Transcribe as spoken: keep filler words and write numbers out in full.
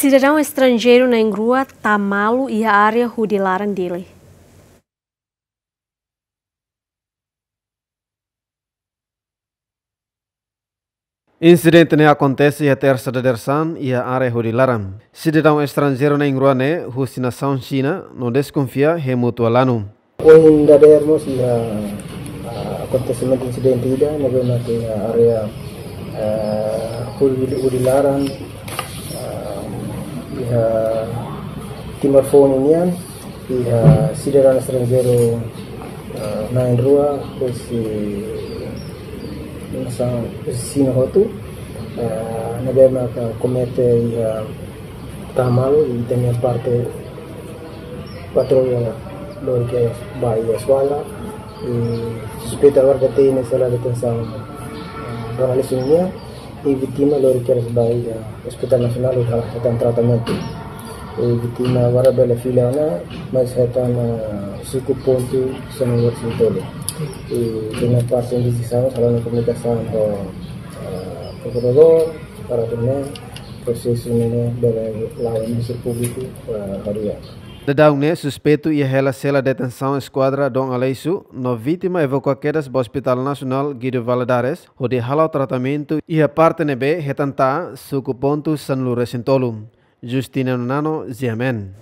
Sidadaun estranjeiru na'in-rua tama malu iha área hudi laran Dili. Insidente ne'e akontese iha Tersa dadeer-saan iha área hudi laran. Sidadaun estranjeiru na'in-rua ne'e husi nasaun Xina no deskonfia hemu tualanu. Ohin dadeer mós iha, ah, akontesimentu insidente ida ne'ebé maka iha área, ah, hudi, hudi laran, ah, iha Timor Foun nian, iha sidadaun estranjeiru, ah, na'in-rua husi nasaun, husi Xina hotu, ah, ne'ebé maka komete iha tama malu, i ita-nia parte patrulla lori kedas ba iha Soala, i suspeitu agora ita hatene iha sela detensaun, ah, Dona Alice nian, i vítima lori kedas ba iha Hospital Nasionál hodi hetan tratamentu. I vítima agora bele fila ona, mas hetan, ah, suku pontu sanulu-resin-tolu. I ita-nia parte investigasaun, halo ona komunikasaun ho, ah, prokuradór, para atu nune'e prosesu ne'e bele la'o Ministériu Públiku, ah, haria. Daudaun ne'e suspeitu iha hela sela detensaun Eskuadra Dom Aleixo, no vítima evakua kedas ba Hospital Nasionál Guido Valadares, hodi hala'o tratamentu iha parte ne'ebé hetan ta'a suku pontu sanulu-resin-tolu. Justina Nonano, G M N.